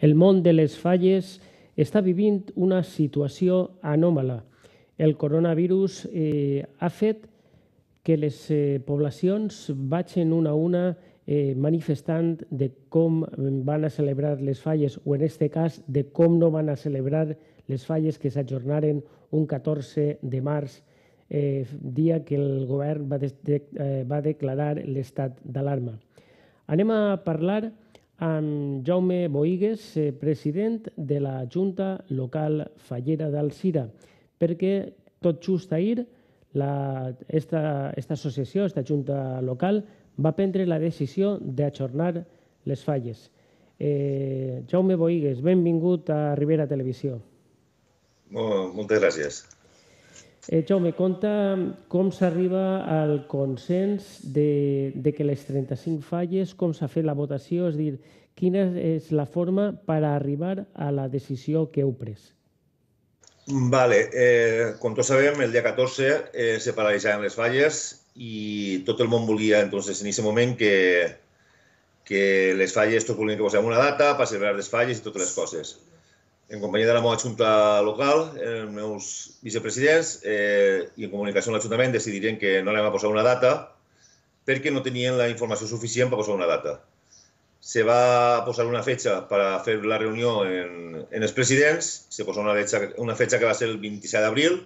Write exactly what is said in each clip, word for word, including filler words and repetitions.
El món de les falles està vivint una situació anòmala. El coronavirus eh, ha fet que les eh, poblacions vagin una a una eh, manifestant de com van a celebrar les falles, o en aquest cas de com no van a celebrar les falles que s'ajornaren un catorze de març, eh, dia que el govern va, de, de, eh, va declarar l'estat d'alarma. Anem a parlar amb Jaume Boigues, eh, president de la Junta Local Fallera d'Alzira, perquè tot just ahir la, esta, esta associació, aquesta Junta Local, va prendre la decisió d'ajornar les falles. Eh, Jaume Boigues, benvingut a Ribera Televisió. Moltes gràcies. Eh, Jaume, conta com s'arriba al consens de, de que les trenta-cinc falles, com s'ha fet la votació, és a dir, quina és la forma per arribar a la decisió que heu pres? Vale, eh, com tots sabem, el dia catorze eh, se paralitzaven les falles i tot el món volia, entonces, en aquest moment que, que les falles, tots volien que posem una data per celebrar les falles i totes les coses. En companyia de la meva junta local, els meus vicepresidents eh, i en comunicació amb l'Ajuntament decidiren que no anem a posar una data perquè no tenien la informació suficient per posar una data. Se va posar una fetxa per a fer la reunió en, en els presidents, se posa una fetxa, una fetxa que va ser el vint-i-set d'abril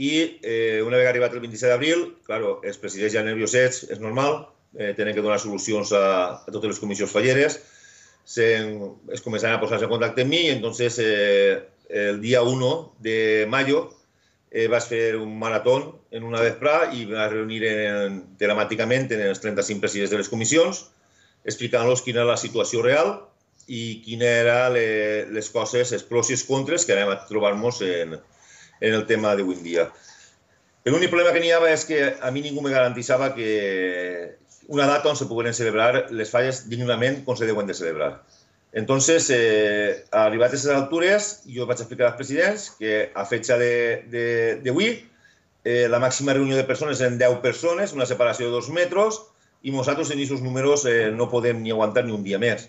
i eh, una vegada arribat el vint-i-set d'abril, claro, els presidents ja nerviosets, és normal, eh, tenen que donar solucions a, a totes les comissions falleres, se, es començaran a posar-se en contacte amb mi i entonces eh, el dia u de mayo eh, vas fer un maratón en una vesprà i vas reunir en, telemàticament en els trenta-cinc presidents de les comissions explicant-los quina era la situació real i quines eren les coses, els pros i els contres que anem a trobar-nos en, en el tema d'avui en dia. L'únic problema que n'hi havia és que a mi ningú me garantitzava que una data on se pogueren celebrar les falles dignament com se deuen de celebrar. Entonces, eh, arribat a aquestes altures, jo vaig explicar als presidents que a fetxa d'avui eh, la màxima reunió de persones eren deu persones, una separació de dos metres, i nosaltres en aquests números eh, no podem ni aguantar ni un dia més.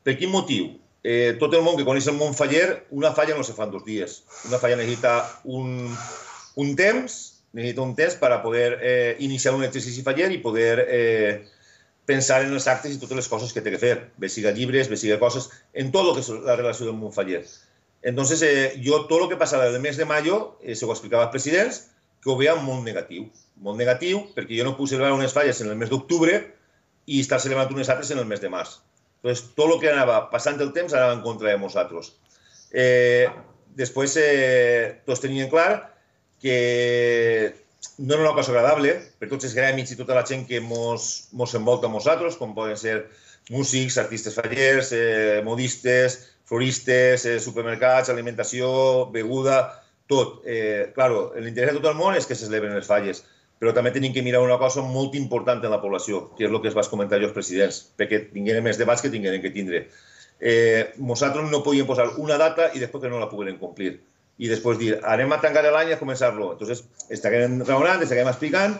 Per quin motiu? Eh, tot el món que coneix el món faller, una falla no se fa en dos dies. Una falla necessita un, un temps, necessita un temps per a poder eh, iniciar un exercici faller i poder eh, pensar en els actes i totes les coses que té que fer, bé siga llibres, bé siga coses, en tot el que és la relació del món faller. Entonces, eh, jo tot el que passava del mes de mayo, eh, se ho explicava als presidents, que ho veia molt negatiu. Molt negatiu, perquè jo no puc celebrar unes falles en el mes d'octubre i estar celebrant unes altres en el mes de març. Entonces, tot el que anava passant el temps anava en contra de nosaltres. Eh, després, eh, tots tenien clar que no era una cosa agradable per tots els gremis i tota la gent que mos, mos envolta a nosaltres, com poden ser músics, artistes fallers, eh, modistes, floristes, eh, supermercats, alimentació, beguda, tot. Eh, claro, l'interès de tot el món és que se celebren les falles, però també tenim que mirar una cosa molt important en la població, que és el que es va comentar jo als presidents, perquè tinguem més debats que tinguem que tindre. Eh, nosaltres no podíem posar una data i després que no la pogueren complir. I després dir, anem a tancar l'any i a començar-lo. Entonces, estaguem raonant, estaguem explicant,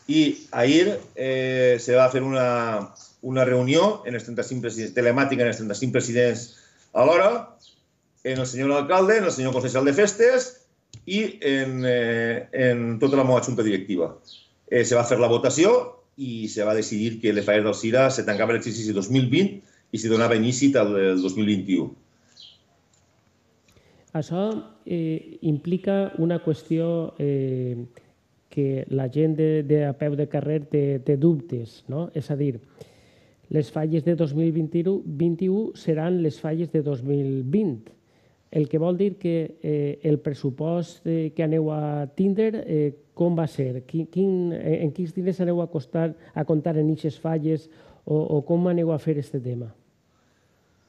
i ahir eh, se va fer una, una reunió en els trenta-cinc presidents, telemàtica en els trenta-cinc presidents alhora, en el senyor alcalde, en el senyor consellal de festes, i en, eh, en tota la meva junta directiva. Eh, se va fer la votació i se va decidir que les falles d'Alzira se tancava l'exercici dos mil vint i se donava inici al dos mil vint-i-u. Això eh, implica una qüestió eh, que la gent de, de a peu de carrer té, té dubtes, no? És a dir, les falles de dos mil vint-i-u seran les falles de dos mil vint. El que vol dir que eh, el pressupost eh, que aneu a tindre, eh, com va ser? Quin, quin, en quins diners aneu a, costar, a comptar en aquestes falles o, o com aneu a fer aquest tema?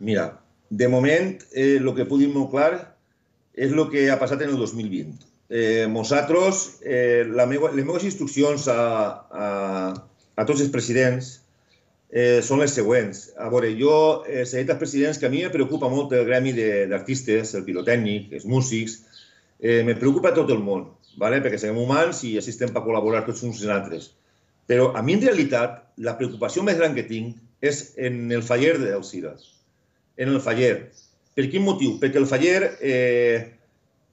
Mira, de moment, eh, el que puc dir molt clar és el que ha passat en el dos mil vint. Eh, nosaltres, eh, la meua, les meves instruccions a, a, a tots els presidents eh, són les següents. A veure, jo eh, s'he dit als presidents que a mi me preocupa molt el gremi d'artistes, el pirotècnic, els músics, eh, me preocupa tot el món, ¿vale? Perquè som humans i així estem per col·laborar tots uns i altres. Però a mi, en realitat, la preocupació més gran que tinc és en el faller d'Alzira. en el faller. Per quin motiu? Perquè el faller eh,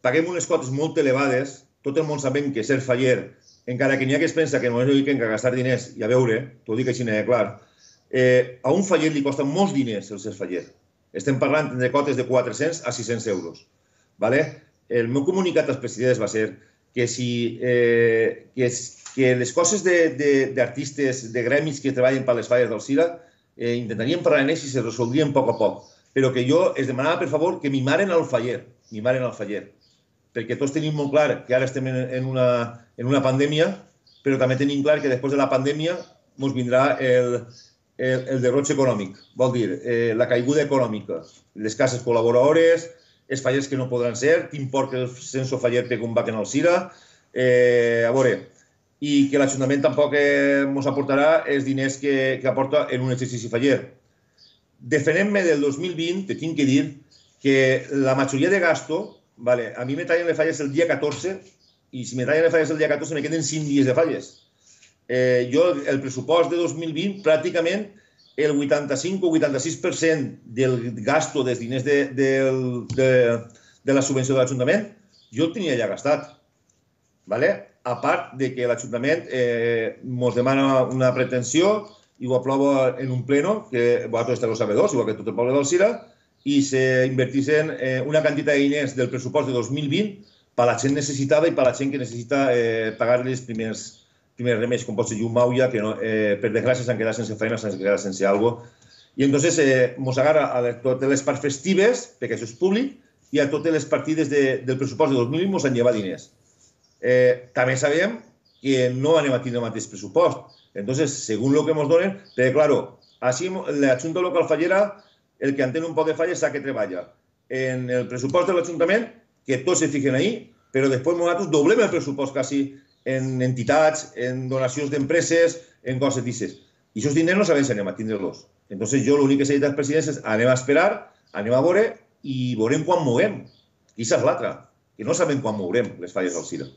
paguem unes cotes molt elevades, tot el món sabem que ser faller, encara que n'hi ha que es pensa que no és dediquen a gastar diners i a veure, t'ho dic així de clar, eh, a un faller li costa molts diners el ser faller. Estem parlant de cotes de quatre-cents a sis-cents euros. ¿Vale? El meu comunicat als presidents va ser que si eh, que, que les coses d'artistes, de, de, de gremis que treballen per les falles del Cira, eh, intentaríem parlar en ells i se resoldrien a poc a poc. Però que jo es demanava, per favor, que mimaren al faller, mimaren al faller. Perquè tots tenim molt clar que ara estem en una, en una pandèmia, però també tenim clar que després de la pandèmia ens vindrà el, el, el derroche econòmic. Vol dir, eh, la caiguda econòmica, les cases col·laboradores, els fallers que no podran ser, t'import que el censo faller pega un bac en el Cira, eh, a veure, i que l'Ajuntament tampoc ens eh, aportarà els diners que, que aporta en un exercici faller. Defendent-me del dos mil vint, te tinc que dir que la majoria de gasto, vale, a mi me tallen les falles el dia catorze, i si me tallen les falles el dia catorze me queden cinc dies de falles. Eh, jo, el pressupost de dos mil vint, pràcticament el vuitanta-cinc o vuitanta-sis per cent del gasto dels diners de, de, de, de la subvenció de l'Ajuntament, jo el tenia ja gastat. Vale? A part de que l'Ajuntament eh, ens demana una pretensió i ho aprova en un pleno, que vosaltres esteu sabedors, igual que tot el poble del Cira, i s'invertissin eh, una quantitat de diners del pressupost de dos mil vint per a la gent necessitada i per a la gent que necessita eh, pagar-li els primers, primers remeis, com pot ser llum maulla, que no, eh, per desgràcia s'han quedat sense feina, s'han quedat sense alguna cosa. I entonces eh, mos agarra a les, totes les parts festives, perquè això és públic, i a totes les partides de, del pressupost de dos mil vint mos han llevat diners. Eh, també sabem que no anem a tindre el mateix pressupost. Entonces, según lo que nos donen, pero claro, así la Junta Local Fallera, el que entén un poc de falles sabe que treballa en el presupuesto del Ayuntamiento, que todos se fijen ahí, pero después nosotros doblem el presupuesto casi en entitats, en donacions d'empreses, en coses d'aixes. I aquests diners no sabem si anem a tindre-los. Entonces, jo l'únic que s'ha dit als presidents és anem a esperar, anem a veure i veurem quan moguem. I això és l'altre, que no sabem quan mourem les falles del Cira.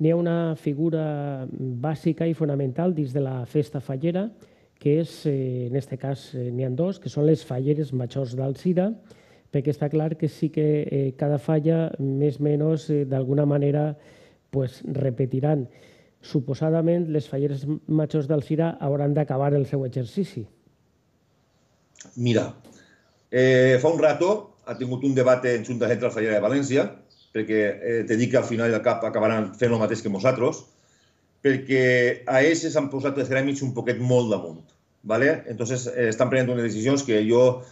N'hi ha una figura bàsica i fonamental dins de la festa fallera, que és, eh, en aquest cas, eh, n'hi ha dos, que són les falleres majors del Cira, perquè està clar que sí que eh, cada falla, més o menys, eh, d'alguna manera, pues, repetiran. Suposadament, les falleres majors del Cira hauran d'acabar el seu exercici. Mira, eh, fa un rato ha tingut un debat en Junta Central Fallera de València, perquè eh, te dic que al final del cap acabaran fent el mateix que nosaltres, perquè a ells s'han posat els gremis un poquet molt damunt. ¿Vale? Entonces, eh, estan prenent unes decisions que jo,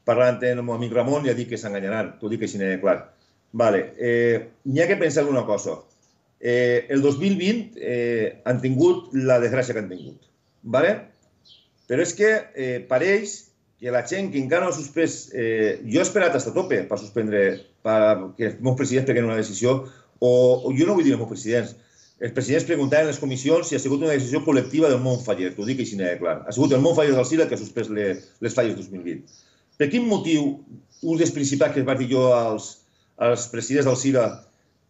parlant amb el meu amic Ramon, ja dic que s'enganyaran, t'ho dic així de clar. Vale. Eh, n'hi ha que pensar en una cosa. Eh, el dos mil vint eh, han tingut la desgràcia que han tingut. ¿Vale? Però és que eh, pareix que la gent que encara no ha suspès... Eh, jo he esperat fins a tope per suspendre, perquè els meus presidents prenguin una decisió, o, o jo no vull dir els meus presidents. Els presidents preguntaven en les comissions si ha sigut una decisió col·lectiva del món faller, t'ho dic així de clar. Ha sigut el món faller del Cira que ha suspès les, les falles dos mil vint. Per quin motiu, un dels principals que vaig dir jo als, als presidents del Cira,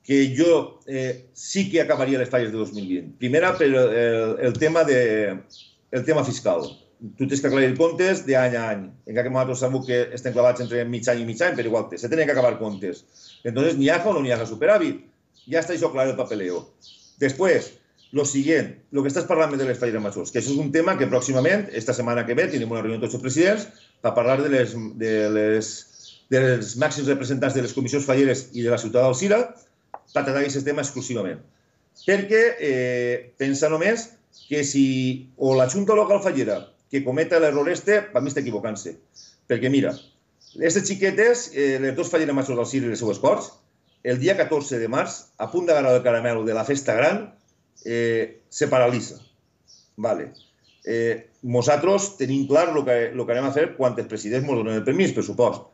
que jo eh, sí que acabaria les falles de dos mil vint? Primera, per el, el, tema, de, el tema fiscal. Tu tens que aclarir comptes d'any a any. Encara que nosaltres sabem que estem clavats entre mig any i mig any, però igual, se tenen que acabar comptes. Entonces, n'hi ha o no n'hi ha superàvit. Ja està això clar el papeleo. Després, lo siguiente, lo que estàs parlant de les falleres majors, que això és un tema que pròximament, esta setmana que ve, tindrem una reunió amb tots els presidents per parlar de les, de les, dels màxims representants de les comissions falleres i de la ciutat del Cira, per tractar aquest tema exclusivament. Perquè eh, pensa només que si o la Junta Local Fallera que cometa l'error este, per mi està equivocant-se. Perquè mira, aquestes xiquetes, eh, les dos falleres majors del Cira i les seues corts, el dia catorze de març, a punt d'agarrar el caramel de la festa gran, eh, se paralitza. Vale. Eh, nosaltres tenim clar el que, lo que anem a fer quan els presidents ens donen el permís, per supost.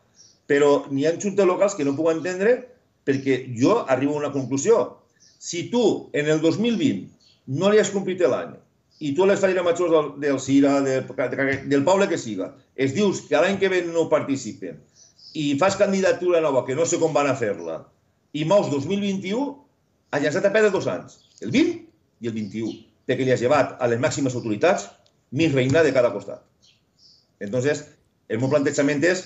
Però n'hi ha juntes locals que no puc entendre perquè jo arribo a una conclusió. Si tu, en el dos mil vint, no li has complit l'any i tu a les falleres majors del, del Cira, del, del poble que siga, es dius que l'any que ve no participen i fas candidatura nova que no sé com van a fer-la, i mous dos mil vint-i-u, ha llançat a perdre dos anys, el vint i el vint-i-u, perquè li has llevat a les màximes autoritats mig reinar de cada costat. Entonces, El meu plantejament és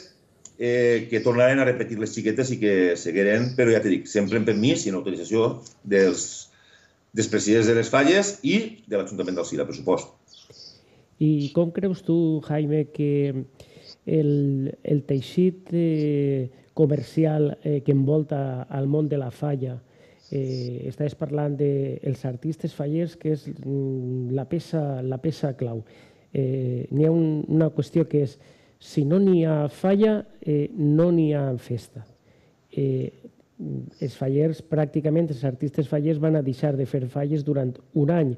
eh, que tornaren a repetir les xiquetes i que seguiren, però ja t'he dit, sempre en permís i en autorització dels, dels presidents de les falles i de l'Ajuntament del Cira, per supost. I com creus tu, Jaime, que el, el teixit eh, comercial eh, que envolta el món de la falla, eh, estaves parlant dels de artistes fallers, que és la peça, la peça clau. Eh, n'hi ha un, una qüestió que és, si no n'hi ha falla, eh, no n'hi ha festa. Eh, els fallers, pràcticament, els artistes fallers van a deixar de fer falles durant un any.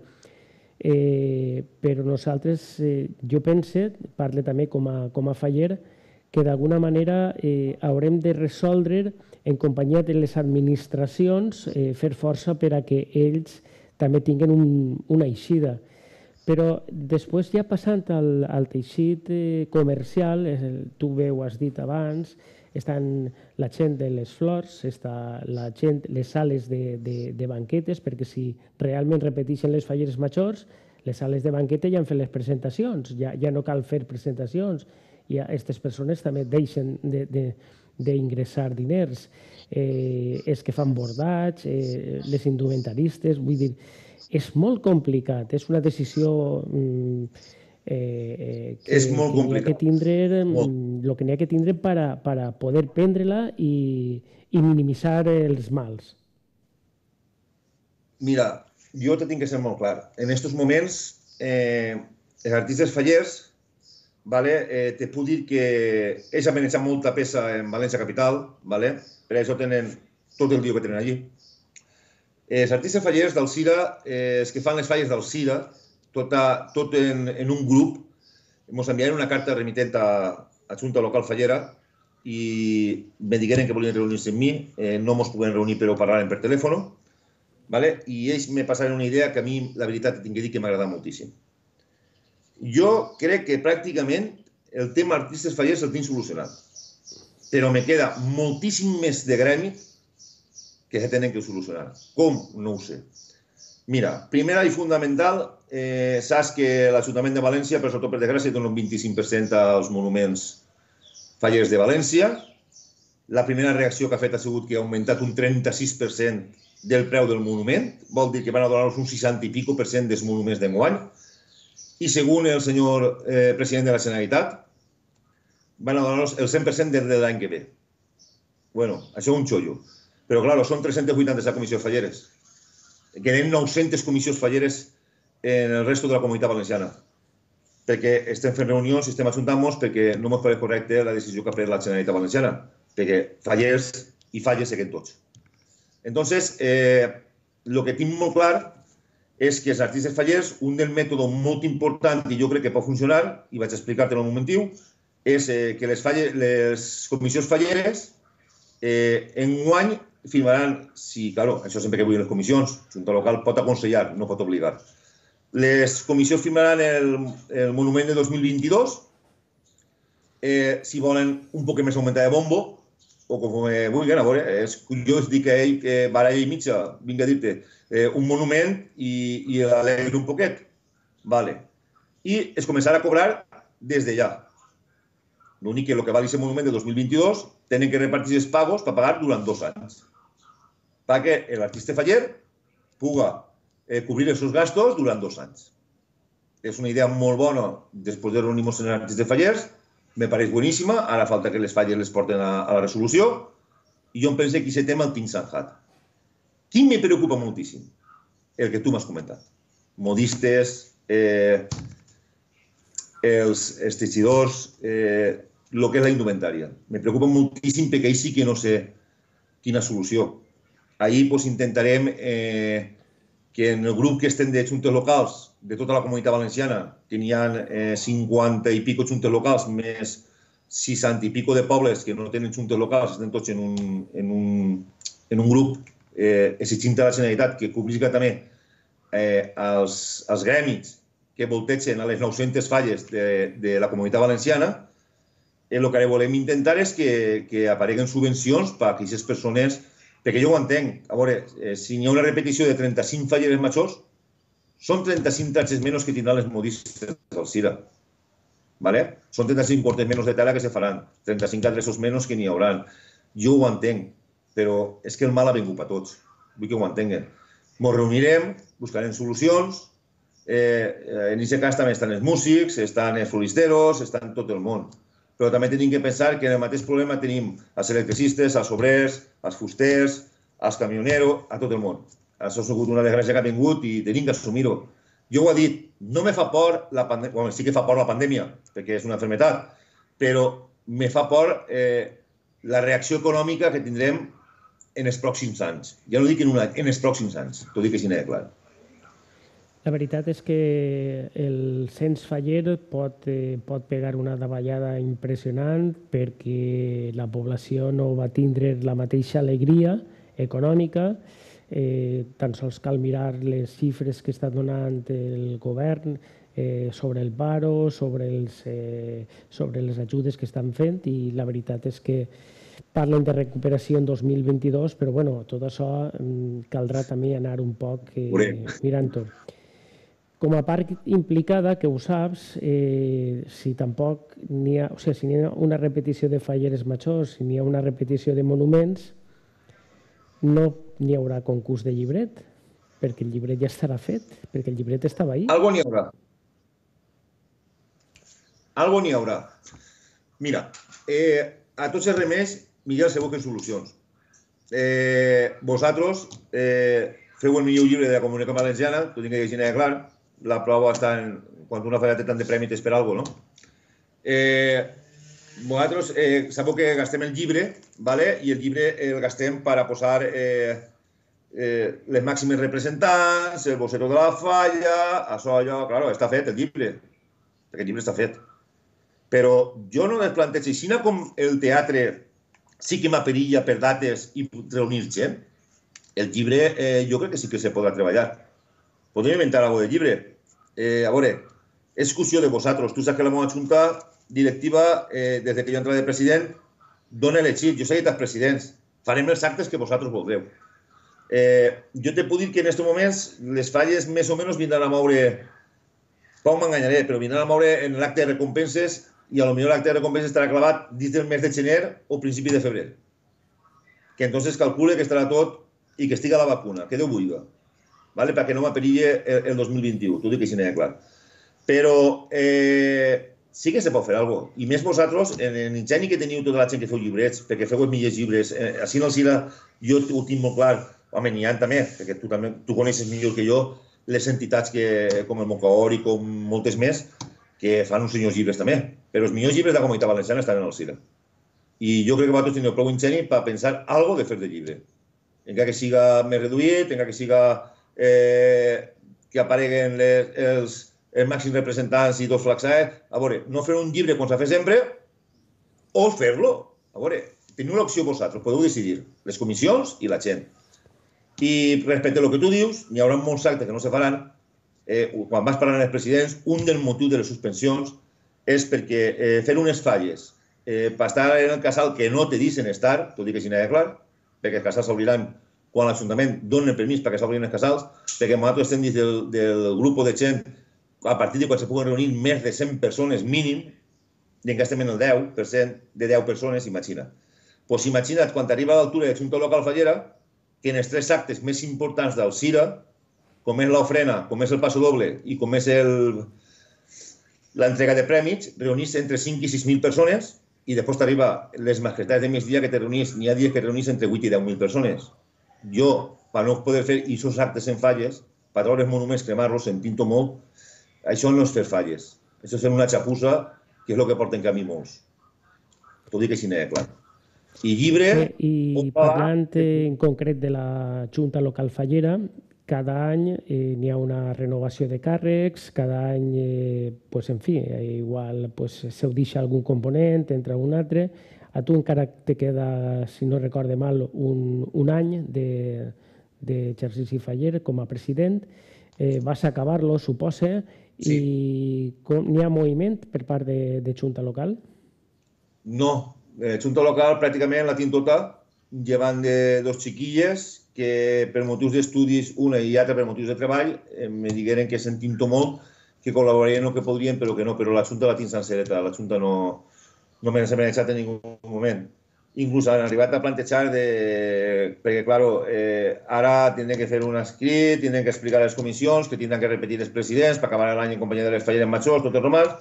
Eh, però nosaltres, eh, jo pense, parle també com a, com a faller, que d'alguna manera eh, haurem de resoldre en companyia de les administracions eh, fer força per a que ells també tinguin un, una eixida. Però després, ja passant al, al teixit eh, comercial, eh, tu bé ho has dit abans, estan la gent de les flors, està la gent, les sales de, de, de banquetes, perquè si realment repeteixen les falleres majors, les sales de banquete ja han fet les presentacions, ja, ja no cal fer presentacions, i aquestes persones també deixen d'ingressar de, de, diners, eh, els que fan bordats, eh, les indumentaristes, vull dir, és molt complicat, és una decisió mm, Eh, que, és molt que complicat. Que tindre, el que n'hi ha que tindre per a, per a poder prendre-la i, i minimitzar els mals. Mira, jo te tinc que ser molt clar. En aquests moments, eh, els artistes fallers, vale, eh, te puc dir que ells han manejat molta peça en València capital, vale? Per això tenen tot el dia que tenen allí. Els artistes fallers del Cira, eh, els que fan les falles del Cira, tot, a, tot en, en un grup, ens enviaren una carta remitent a, a Junta Local Fallera i me digueren que volien reunir-se amb mi, eh, no ens podem reunir però parlàvem per telèfon, vale? I ells me passaren una idea que a mi, la veritat, tinc que dir que m'agrada moltíssim. Jo crec que pràcticament el tema artistes fallers el tinc solucionat, però me queda moltíssim més de gremi que se tenen que solucionar. Com? No ho sé. Mira, primera i fundamental, eh, saps que l'Ajuntament de València, per sort per desgràcia, dona un vint-i-cinc per cent als monuments fallers de València. La primera reacció que ha fet ha sigut que ha augmentat un trenta-sis per cent del preu del monument, vol dir que van a donar-nos un seixanta i pico per cent dels monuments d'enguany. I segons el senyor eh, president de la Generalitat, van a donar-nos el cent per cent des de l'any que ve. Bueno, això és un xollo. Però, clar, són tres-centes vuitanta-set comissions falleres. Queden nou-centes comissions falleres en el resto de la comunitat valenciana. Perquè estem fent reunions i estem ajuntant-nos perquè no ens pareix correcte la decisió que ha pres la Generalitat Valenciana. Perquè fallers i falles seguim tots. Entonces, eh, el que tinc molt clar és que els artistes fallers, un del mètode molt important i jo crec que pot funcionar, i vaig explicar-te en un momentiu, és eh, que les, falles, les comissions falleres eh, enguany firmaran, si, claro, això sempre que vull les comissions, Junta Local pot aconsellar, no pot obligar. Les comissions firmaran el, el monument de dos mil vint-i-dos, eh, si volen un poc més augmentar de bombo, o com vulguin, a veure, és curiós dir que ell, que baralla i mitja, vinc a dir-te, eh, un monument i, i l'alegre un poquet. Vale. I es començarà a cobrar des de ja. L'únic que el que val aquest monument de dos mil vint-i-dos tenen que repartir els pagos per pagar durant dos anys. Perquè l'artista faller pugui eh, cobrir els seus gastos durant dos anys. És una idea molt bona després de reunir-nos en artistes fallers, me pareix boníssima, ara falta que les falles les porten a, a la resolució, i jo em penso que aquest tema el tinc zanjat. Qui me preocupa moltíssim? El que tu m'has comentat. Modistes, eh, els, els teixidors, eh, el que és la indumentària. Me preocupa moltíssim perquè ahir sí que no sé quina solució. Ahir pues, intentarem eh, que en el grup que estem de juntes locals de tota la comunitat valenciana, que n'hi ha eh, cinquanta i pico juntes locals, més seixanta i pico de pobles que no tenen juntes locals, estem tots en un, en un, en un grup eh, exigint a la Generalitat que cobriga també eh, els, els gremis que voltegen a les nou-centes falles de, de la comunitat valenciana. El que volem intentar és que, que apareguen subvencions per a aquestes persones, perquè jo ho entenc. A veure, eh, si hi ha una repetició de trenta-cinc falleres majors, són trenta-cinc taxes menys que tindran les modistes del Cira. ¿vale? Son trenta-cinc cortes menos de tela que se faran, trenta-cinc adreços menys que n'hi hauran. Jo ho entenc, però és que el mal ha vingut per tots. Vull que ho entenguen. Ens reunirem, buscarem solucions. En aquest cas també estan els músics, estan els floristeros, estan tot el món. Però també tenim que pensar que en el mateix problema tenim els electricistes, els obrers, els fusters, els camioneros, a tot el món. Això ha sigut una desgràcia que ha vingut i tenim que assumir-ho. Jo ho he dit, no me fa por la pandèmia, bueno, sí que fa por la pandèmia, perquè és una malaltia, però me fa por la reacció econòmica que tindrem en els pròxims anys. Ja no dic en un any, en els pròxims anys. T'ho dic així de clar. La veritat és que el cens faller pot, pot pegar una davallada impressionant perquè la població no va tindre la mateixa alegria econòmica. Eh, tan sols cal mirar les xifres que està donant el govern eh, sobre el paro, sobre, els, eh, sobre les ajudes que estan fent, i la veritat és que parlen de recuperació en dos mil vint-i-dos, però bueno, tot això eh, caldrà també anar un poc eh, mirant-ho. Com a part implicada, que ho saps, eh, si tampoc n'hi ha, o sigui, si n'hi ha una repetició de falleres majors, si n'hi ha una repetició de monuments, no n'hi haurà concurs de llibret, perquè el llibret ja estarà fet, perquè el llibret estava ahí. Algo n'hi haurà. Algo n'hi haurà. Mira, eh, a tots els remeis, millor se busquen solucions. Eh, vosaltres eh, feu el millor llibre de la Comunitat Valenciana, t'ho tinc que dir de clar, la prova està en... Quan una fa tant de premi t'és per alguna cosa, no? Eh, vosaltres eh, sabeu que gastem el llibre, ¿vale? I el llibre el gastem per a posar eh, eh, les màximes representants, el vocero de la falla, això, allò... Claro, està fet el llibre, perquè el llibre està fet. Però jo no les plantejo, així com el teatre sí que m'aperilla per dates i reunir gent, el llibre eh, jo crec que sí que se podrà treballar. Podem inventar alguna cosa de llibre. Eh, a veure, és qüestió de vosaltres. Tu saps que la meva junta directiva, eh, des que jo entrava de president, dona elegit. Jo sé que els presidents. Farem els actes que vosaltres voldreu. Eh, jo te puc dir que en aquests moments les falles més o menys vindran a moure, poc m'enganyaré, però vindran a moure en l'acte de recompenses i potser l'acte de recompenses estarà clavat dins del mes de gener o principi de febrer. Que entonces calcule que estarà tot i que estiga la vacuna, que Déu vulgui. ¿Vale? Perquè no m'aperille el dos mil vint-i-u, t'ho dic així de clar. Però eh, sí que se pot fer alguna cosa. I més vosaltres, en l'ingeni que teniu tota la gent que feu llibrets, perquè feu els millors llibres, eh, així en el Cira jo ho tinc molt clar, home, n'hi ha també, perquè tu, també, tu coneixes millor que jo les entitats que, com el Moncaor i com moltes més, que fan uns senyors llibres també. Però els millors llibres de la Comunitat Valenciana estan en el Cira. I jo crec que vosaltres teniu prou ingeni per pensar alguna cosa de fer de llibre. Encara que siga més reduït, encara que siga Eh, que apareguen les, els, els màxims representants i dos flaxats. A veure, no fer un llibre com s'ha fet sempre o fer-lo. A veure, teniu l'opció vosaltres, podeu decidir, les comissions i la gent. I respecte a el que tu dius, n'hi haurà molts actes que no se faran. Eh, quan vas parlant amb els presidents, un dels motius de les suspensions és perquè eh, fer unes falles eh, per estar en el casal que no te dicen estar, t'ho dic així de clar, perquè els casals s'obriran quan l'Ajuntament dona permís perquè s'obrin els casals, perquè nosaltres estem dins del, del grup de gent a partir de quan se puguen reunir més de cent persones mínim, i encara estem en el deu per cent de deu persones, imagina. Doncs imagina't, quan t'arriba a l'altura de la Junta Local Fallera, que en els tres actes més importants del Cira, com és l'ofrena, com és el passo doble i com és l'entrega de prèmits, reunís entre cinc i sis mil persones i després t'arriba les mascletades de migdia que te reunís, n'hi ha dies que reunís entre vuit i deu mil persones. Jo, per no poder fer aquests actes en falles, per treure els monuments, cremar-los, sentint-ho molt, això no és fer falles. Això és fer una xapussa, que és el que porten camí molts. T'ho dic així de clar. I llibre... I parlant en concret de la Junta Local Fallera, cada any eh, n'hi ha una renovació de càrrecs, cada any, eh, pues, en fi, igual pues, se deixa algun component, entra un altre. A tu encara te queda, si no recorde mal, un, un any d'exercici de, faller com a president. Eh, vas acabar-lo, suposa, sí. I n'hi ha moviment per part de, de Junta Local? No, eh, Junta Local pràcticament la tinc tota, llevant de dos xiquilles que per motius d'estudis, una i altra per motius de treball, eh, me digueren que sentint-ho molt que col·laborarien el que podrien, però que no, però la Junta la tinc sencereta, la Junta no, no me n'ha manejat en ningú moment. Inclús han arribat a plantejar de... perquè, claro, eh, ara tindrem que fer un escrit, tindrem que explicar a les comissions, que tindran que repetir els presidents per acabar l'any en companyia de les falleres majors, tot el romans,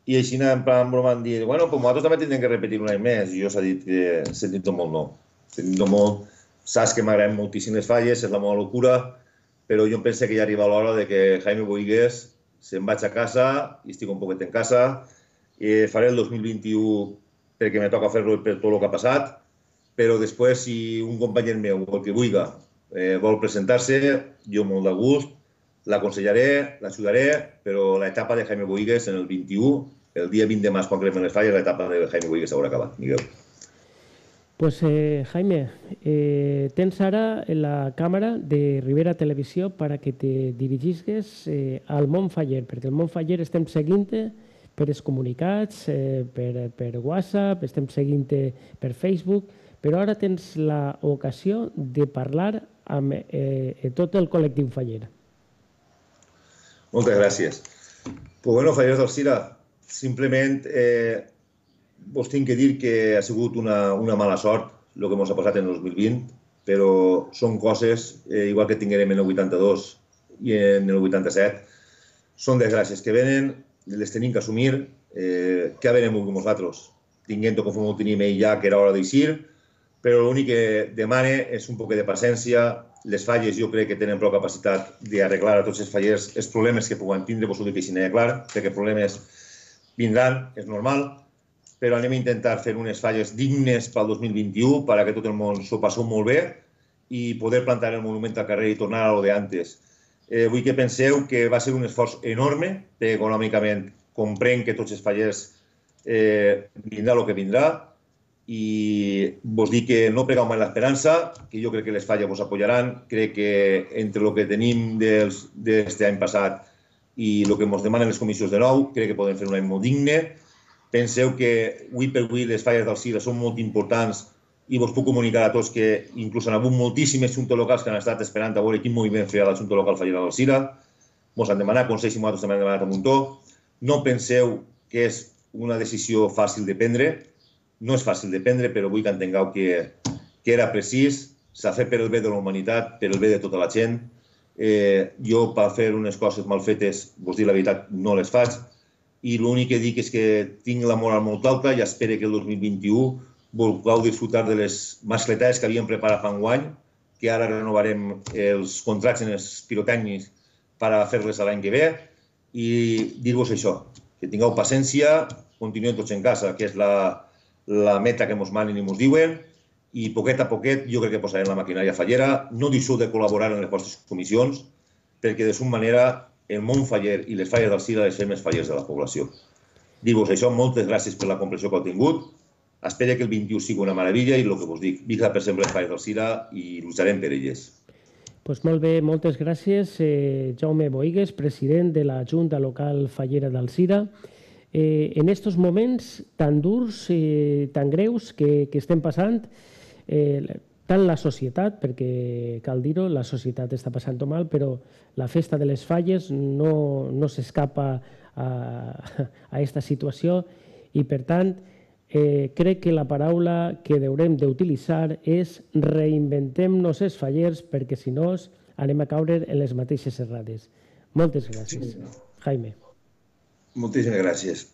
i així en plan broma han dit, bueno, pues nosaltres també tindrem que repetir un any més, i jo s'ha dit que sentint molt no. Sentint molt, saps que m'agraden moltíssim les falles, és la meva locura, però jo penso que ja arriba l'hora de que Jaime Boigues se'n vaig a casa, i estic un poquet en casa, i faré el dos mil vint-i-u perquè me toca fer-lo per tot el que ha passat, però després, si un company meu, el que vulgui, eh, vol presentar-se, jo molt de gust, l'aconsellaré, l'ajudaré, però l'etapa de Jaime Boigues en el vint-i-u, el dia vint de març, quan cremen les falles, l'etapa de Jaime Boigues haurà acabat, Miguel. Pues eh, Jaime, eh, tens ara la càmera de Ribera Televisió per a que te dirigisques eh, al món faller, perquè el món faller estem seguint-te per els comunicats, eh, per, per WhatsApp, estem seguint-te per Facebook, però ara tens l'ocasió de parlar amb eh, tot el col·lectiu faller. Moltes gràcies. Pues bueno, fallers del Cira, simplement eh, vos tinc que dir que ha sigut una, una mala sort el que ens ha passat en el dos mil vint, però són coses, eh, igual que tinguérem en el vuitanta-dos i en el vuitanta-set, són desgràcies que venen, les tenim que assumir, eh, que venem amb nosaltres, tinguent-ho com ho tenim ell ja, que era hora d'eixir, però l'únic que demane és un poc de paciència. Les falles jo crec que tenen prou capacitat d'arreglar a tots els fallers els problemes que puguen tindre, vos ho dic així, clar, perquè problemes vindran, és normal, però anem a intentar fer unes falles dignes pel dos mil vint-i-u perquè tot el món s'ho passeu molt bé i poder plantar el monument al carrer i tornar a lo de antes. Eh, vull que penseu que va ser un esforç enorme, perquè econòmicament comprenc que tots els fallers eh, vindrà el que vindrà, i vos dic que no pregau mai l'esperança, que jo crec que les falles vos apoyaran, crec que entre el que tenim d'aquest any passat i el que ens demanen les comissions de nou, crec que podem fer un any molt digne. Penseu que avui per avui les falles del Cira són molt importants i vos puc comunicar a tots que inclús han hagut moltíssimes juntes locals que han estat esperant a veure quin moviment feia la Junta Local Fallera del Cira. Ens han demanat consells i nosaltres també hem demanat a Muntó. No penseu que és una decisió fàcil de prendre. No és fàcil de prendre, però vull que entengueu que, que era precís, s'ha fet per el bé de la humanitat, per el bé de tota la gent. Eh, jo, per fer unes coses mal fetes, vos dic la veritat, no les faig. I l'únic que dic és que tinc la moral molt alta i espero que el dos mil vint-i-u vulgueu disfrutar de les mascletades que havíem preparat fa un any, que ara renovarem els contractes en els pirotècnics per a fer-les l'any que ve, i dir-vos això, que tingueu paciència, continuem tots en casa, que és la, la meta que ens manen i ens diuen, i poquet a poquet jo crec que posarem la maquinària fallera. No deixeu de col·laborar en les vostres comissions, perquè de alguna manera el món faller i les falles del Cira les fem els fallers de la població. Dir-vos això, moltes gràcies per la comprensió que heu tingut. Espero que el vint-i-u sigui una meravella i el que us dic, visca per sempre les falles del Cira i lluitarem per elles. Pues molt bé, moltes gràcies, eh, Jaume Boigues, president de la Junta Local Fallera del Cira. Eh, en estos moments tan durs, eh, tan greus que, que estem passant, eh, tant la societat, perquè cal dir-ho, la societat està passant-ho mal, però la festa de les falles no, no s'escapa a, a aquesta situació i, per tant, eh, crec que la paraula que haurem d'utilitzar és reinventem-nos els fallers perquè, si no, anem a caure en les mateixes errades. Moltes gràcies, Jaime. Moltíssimes gràcies.